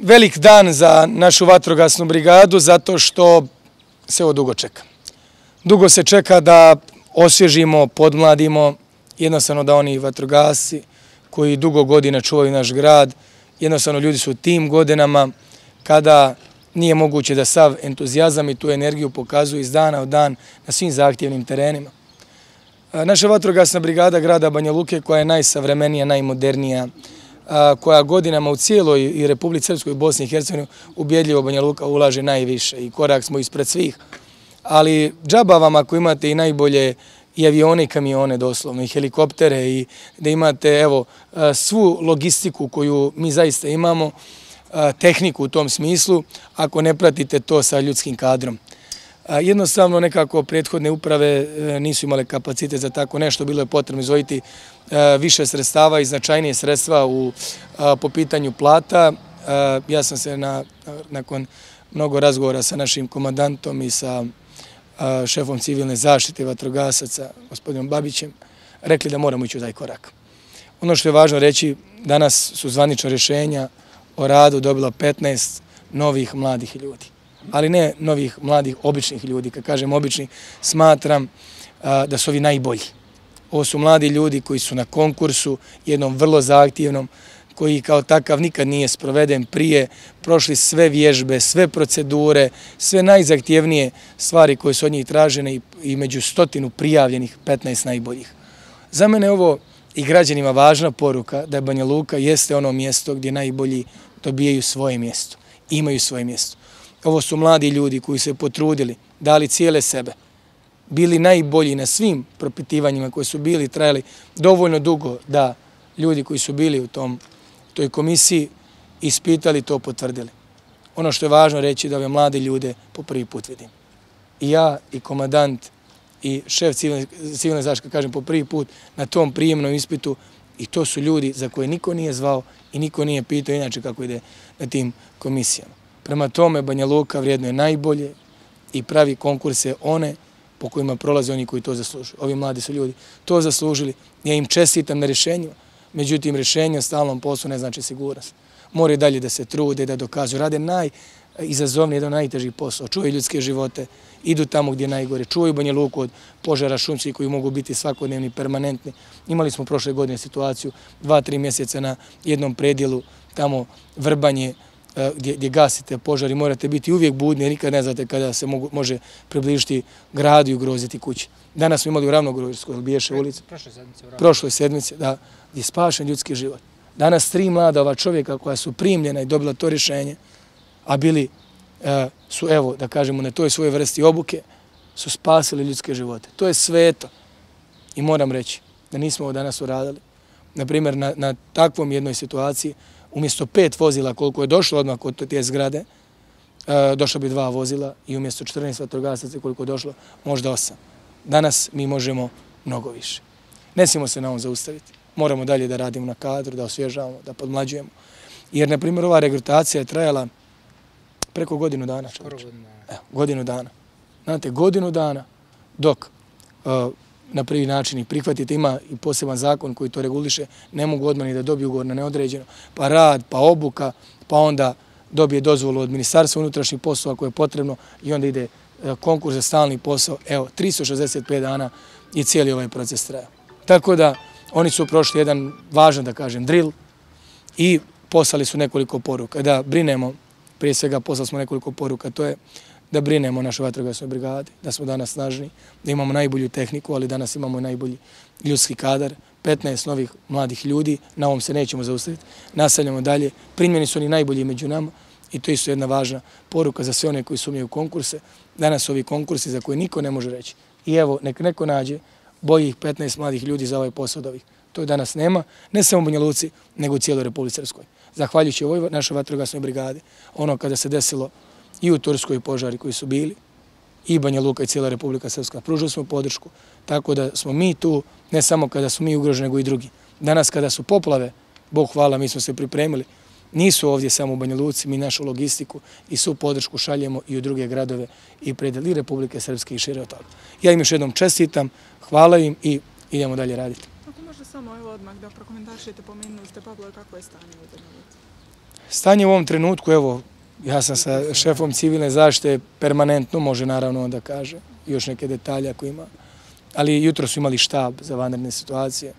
Velik dan za našu vatrogasnu brigadu zato što se ovo dugo čeka. Dugo se čeka da osvježimo, podmladimo, jednostavno da oni vatrogasci koji dugo godina čuvaju naš grad, jednostavno ljudi su u tim godinama kada nije moguće da sav entuzijazam i tu energiju pokazuju iz dana u dan na svim zahtjevnim terenima. Naša vatrogasna brigada grada Banja Luke, koja je najsavremenija, najmodernija, koja godinama u cijeloj i Republici Srpskoj i Bosni i Hercegovini ubjedljivo Banja Luka ulaže najviše i korak smo ispred svih. Ali džaba vam ako imate i najbolje i avione i kamione doslovno i helikoptere i da imate evo svu logistiku koju mi zaista imamo, tehniku u tom smislu, ako ne pratite to sa ljudskim kadrom. Jednostavno nekako prethodne uprave nisu imale kapacitet za tako nešto, bilo je potrebno izdvojiti više sredstava i značajnije sredstva po pitanju plata. Ja sam se nakon mnogo razgovora sa našim komandantom i sa šefom civilne zaštite vatrogasaca, gospodinom Babićem, rekli da moramo ići u taj korak. Ono što je važno reći, danas su zvanična rješenja o radu dobila 15 novih mladih ljudi. Ali ne novih mladih običnih ljudi. Kad kažem obični, smatram da su ovi najbolji. Ovo su mladi ljudi koji su na konkursu, jednom vrlo zahtjevnom, koji kao takav nikad nije sproveden prije, prošli sve vježbe, sve procedure, sve najzahtjevnije stvari koje su od njih tražene i među 100 prijavljenih 15 najboljih. Za mene je ovo i građanima važna poruka da Banja Luka jeste ono mjesto gdje najbolji dobijaju svoje mjesto, imaju svoje mjesto. Ovo su mladi ljudi koji se potrudili, dali cijele sebe, bili najbolji na svim propitivanjima koji su bili, trajali dovoljno dugo da ljudi koji su bili u toj komisiji ispitali, to potvrdili. Ono što je važno reći da ove mlade ljude po prvi put vidim. I ja, i komandant, i šef civilne zaštite, kažem po prvi put na tom prijemnom ispitu, i to su ljudi za koje niko nije zvao i niko nije pitao inače kako ide na tim komisijama. Prema tome, Banja Luka vrijedno je najbolje i pravi konkurse one po kojima prolaze oni koji to zaslužuju. Ovi mladi su ljudi to zaslužili. Ja im čestitam na rješenju, međutim rješenje o stalnom poslu ne znači sigurnost. Moraju dalje da se trude, da dokazuju. Rade najizazovniji, jedan najteži posao. Čuvaju ljudske živote, idu tamo gdje je najgore. Čuvaju Banja Luku od požara šumskih koji mogu biti svakodnevni, permanentni. Imali smo prošle godine situaciju 2-3 mjeseca na jednom predjelu, tamo Vrbanje, gdje gasite požar i morate biti uvijek budni jer nikad ne znate kada se može približiti gradu i ugroziti kući. Danas smo imali u Ravnogorskoj Biješe ulici. Prošloj sedmici, da, je spašen ljudski život. Danas 3 mlada ova čovjeka koja su primljena i dobila to rješenje, a bili su, evo, da kažemo, na toj svojoj vrsti obuke, su spasili ljudske živote. To je sveto. I moram reći da nismo ovo danas uradili. Naprimjer, na takvom jednoj situaciji, umjesto 5 vozila koliko je došlo odmah kod te zgrade, došlo bi 2 vozila i umjesto 14 vatrogasaca koliko je došlo, možda 8. Danas mi možemo mnogo više. Ne smijemo se na ovom zaustaviti. Moramo dalje da radimo na kadru, da osvježavamo, da podmlađujemo. Jer, na primjer, ova regrutacija je trajala preko godinu dana. Evo, godinu dana. Znate, godinu dana dok na prvi način i prihvatite, ima i poseban zakon koji to reguliše, ne mogu odmah ni da dobiju ugovor na neodređeno, pa rad, pa obuka, pa onda dobije dozvolu od Ministarstva unutrašnjih poslova koje je potrebno i onda ide konkurs za stalni posao. Evo, 365 dana je cijeli ovaj proces trajao. Tako da oni su prošli jedan važan, da kažem, drill i poslali su nekoliko poruka. Da brinemo, prije svega poslali smo nekoliko poruka, to je da brinemo o našoj vatrogasnoj brigadi, da smo danas snažni, da imamo najbolju tehniku, ali danas imamo i najbolji ljudski kadar, 15 novih mladih ljudi, na ovom se nećemo zaustaviti, nastavljamo dalje, primljeni su oni najbolji među nama i to je isto jedna važna poruka za sve one koji sumnjaju konkurse. Danas su ovi konkursi za koje niko ne može reći. I evo, nek neko nađe boljih 15 mladih ljudi za ovaj posao od ovih. To danas nema, ne samo u Banja Luci, nego u cijeloj Republici Srpskoj. Zahvaljujući ovoj našoj vatrogasnoj brigadi, ono kada se desilo i u Turskoj požari koji su bili, i Banja Luka i cijela Republika Srpska, pružili smo podršku, tako da smo mi tu, ne samo kada smo mi ugroženi, nego i drugi. Danas kada su poplave, Bog hvala, mi smo se pripremili, nisu ovdje samo u Banja Luci, mi našu logistiku i svu podršku šaljemo i u druge gradove i predeli Republike Srpske i šire od toga. Ja im još jednom čestitam, hvala im i idemo dalje raditi. Ako možda samo evo odmah da prokomentarišete, pomenuli ste Pavle, kako je stanje u Banja Luci? Stanje u ovom trenutku, evo, ja sam sa šefom civilne zaštite permanentno, može naravno on da kaže, još neke detalje ako ima, ali jutro su imali štab za vanredne situacije.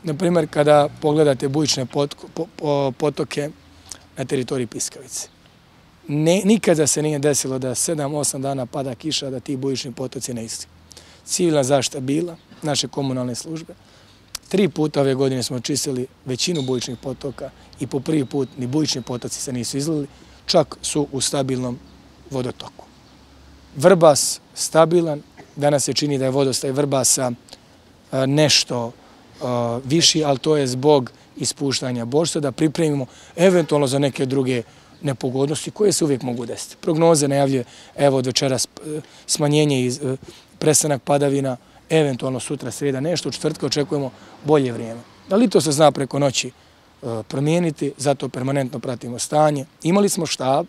Naprimjer, kada pogledate bujične potoke na teritoriji Piskavice, nikada se nije desilo da 7-8 dana pada kiša, da ti bujični potoci ne isti. Civilna zaštita bila, naše komunalne službe. 3 puta ove godine smo čistili većinu bujičnih potoka i po prvi put ni bujični potoci se nisu izlili, čak su u stabilnom vodotoku. Vrbas stabilan, danas se čini da je vodostaj Vrbasa nešto viši, ali to je zbog ispuštanja Božca, da pripremimo eventualno za neke druge nepogodnosti koje se uvijek mogu desiti. Prognoze najavljuje, evo od večeras smanjenje i prestanak padavina, eventualno sutra srijeda nešto, u četvrtka očekujemo bolje vrijeme. Ali to se zna preko noći promijeniti, zato permanentno pratimo stanje. Imali smo štab,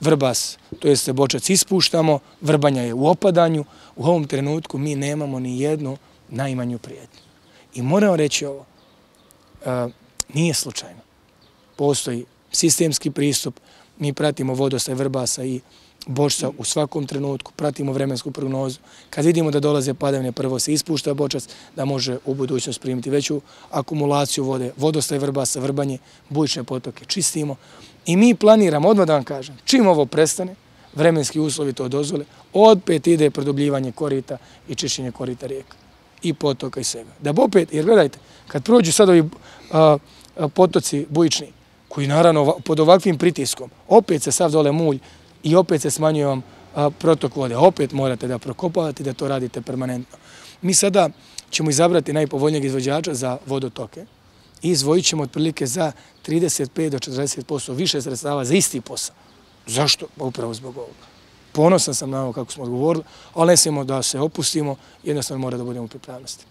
Vrbas, to jeste Bočac ispuštamo, Vrbanja je u opadanju, u ovom trenutku mi nemamo ni jednu najmanju prijetnju. I moramo reći ovo, nije slučajno. Postoji sistemski pristup, mi pratimo vodostaj Vrbasa i Bočca u svakom trenutku, pratimo vremensku prognozu. Kad vidimo da dolaze padavine, prvo se ispušta Bočac, da može u budućnost primiti veću akumulaciju vode, vodostaj Vrbasa, Vrbanje, bujične potoke čistimo. I mi planiramo, odmah da vam kažem, čim ovo prestane, vremenski uslovi to dozvole, opet ide produbljivanje korita i čišćenje korita rijeka i potoka i svega. Da bi opet, jer gledajte, kad prođu sad ovi potoci bujični, koji naravno pod ovakvim pritiskom, opet se sav dole mulj i opet se smanjuje vam protok vode. Opet morate da prokopavate, da to radite permanentno. Mi sada ćemo izabrati najpovoljnijeg izvođača za vodotoke i izvojit ćemo otprilike za 35 do 40% više sredstava za isti posao. Zašto? Upravo zbog ovoga. Ponosan sam na ovo kako smo odgovorili, ali ne smijemo da se opustimo, jednostavno mora da budemo u pripravnosti.